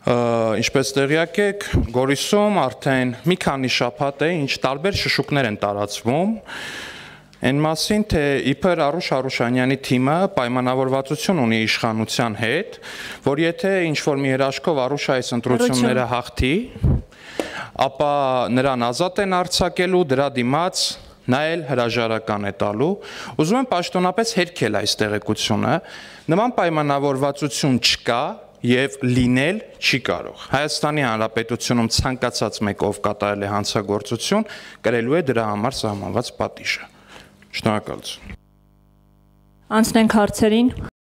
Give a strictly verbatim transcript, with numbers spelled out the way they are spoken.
Ինչպես տեղյակ եք, Գորիսում արդեն մի քանի շաբաթ է, ինչ տարբեր շշուկներ են տարածվում այն մասին, թե իբր Արուշ Արուշանյանի թիմը պայմանավորվածություն ունի իշխանության հետ, որ եթե ինչ-որ մի երաշխով Արուշը այս ընտրությունները հաղթի, ապա նրան ազատ են արձակելու, դրա դիմաց նա էլ հրաժարական է տալու։ Ուզում եմ պաշտոնապես հերքել այս տեղեկությունը, նման պայմանավորվածություն չկա և լինել չի կարող։ Հայաստանի Հանրապետությունում ցանկացած մեկ, ով կատարել է հանցագործություն, կրելու է դրա համար սահմանված պատիժը։ Շնորհակալություն։ Անցնենք հարցերին։